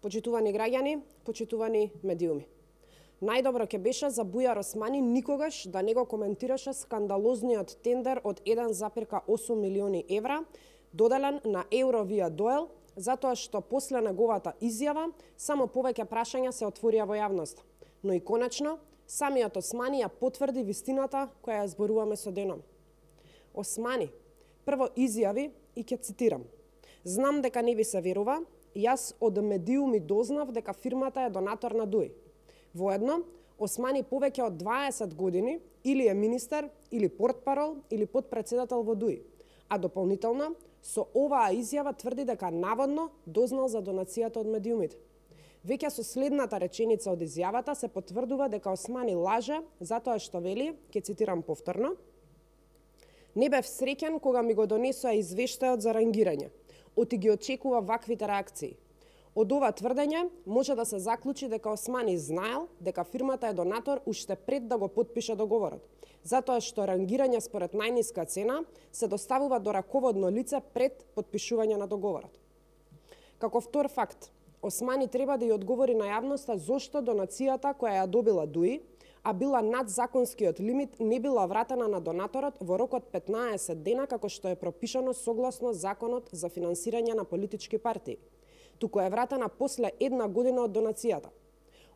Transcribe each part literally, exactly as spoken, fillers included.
почитувани граѓани, почитувани медиуми. Најдобро ќе беше за Бујар Османи никогаш да не го коментираше скандалозниот тендер од еден запирка осум милиони евра, доделен на Eurovia-Doel, затоа што после неговата изјава само повеќе прашања се отворија во јавност. Но и конечно, самиот Османи ја потврди вистината која ја зборуваме со деном. Османи прво изјави и ќе цитирам: "Знам дека не ви се верува, јас од медиуми дознав дека фирмата е донатор на Дуи." Воедно, Османи повеќе од дваесет години или е министер, или портпарол, или потпредседател во Дуи, а дополнително со оваа изјава тврди дека наводно дознал за донацијата од медиумите. Веќе со следната реченица од изјавата се потврдува дека Османи лаже затоа што вели, ќе цитирам повторно: "Не бев среќен кога ми го донесоа извештајот за рангирање. Оти ги очекува ваквите реакции." Од ова тврдење може да се заклучи дека Османи знаел дека фирмата е донатор уште пред да го потпише договорот, затоа што рангирање според најниска цена се доставува до раководно лице пред потпишување на договорот. Како втор факт, Османи треба да ја одговори на јавноста зошто донацијата која ја добила Дуи, а била над законскиот лимит, не била вратена на донаторот во рок од петнаесет дена како што е пропишано согласно Законот за финансирање на политички партии, туку е вратена после една година од донацијата.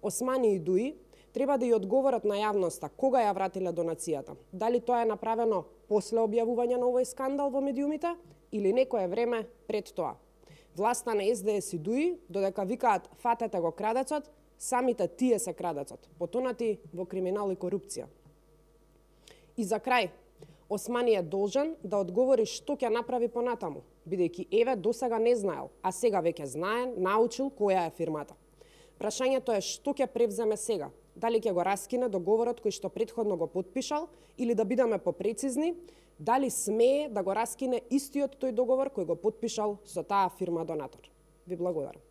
Османи и Дуи треба да ја одговорат на јавноста кога ја вратиле донацијата, дали тоа е направено после објавување на овој скандал во медиумите или некое време пред тоа. Власта на Ес Де Ес и Дуи, додека викаат "фатете го крадецот", самите тие се крадецот, потонати во криминал и корупција. И за крај, Османи е должен да одговори што ќе направи понатаму, бидејќи еве досега не знаел, а сега веќе знае, научил која е фирмата. Прашањето е што ќе превземе сега, дали ќе го раскине договорот кој што претходно го потпишал, или да бидеме попрецизни, дали смее да го раскине истиот тој договор кој го потпишал со таа фирма донатор. Ви благодарам.